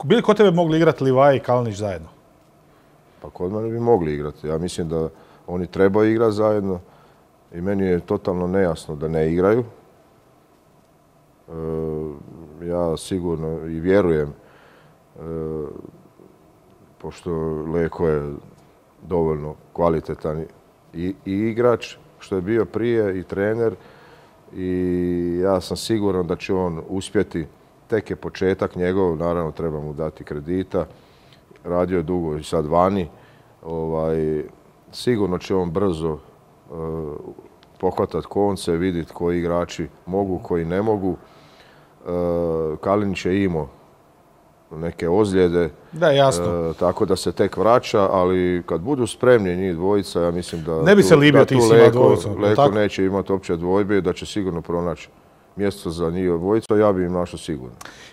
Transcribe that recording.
Bili kod tebe mogli igrati Livaja i Kalinić zajedno? Pa kod mene bi mogli igrati. Ja mislim da oni trebaju igrati zajedno i meni je totalno nejasno da ne igraju. Ja sigurno i vjerujem, pošto Leko je dovoljno kvalitetan i igrač, što je bio prije, i trener, i ja sam siguran da će on uspjeti. Tek je početak njegov, naravno treba mu dati kredita, radio je dugo i sad vani. Sigurno će on brzo pohvatati konce, vidjeti koji igrači mogu, koji ne mogu. Kalinić je imao neke ozljede, da, jasno. Tako da se tek vraća, ali kad budu spremni njih dvojica, ja mislim da ne bi se libio ti s njima dvojicom. Leko neće imati opće dvojbe, da će sigurno pronaći mjesto za njih dvojica, ja bi im našao sigurno.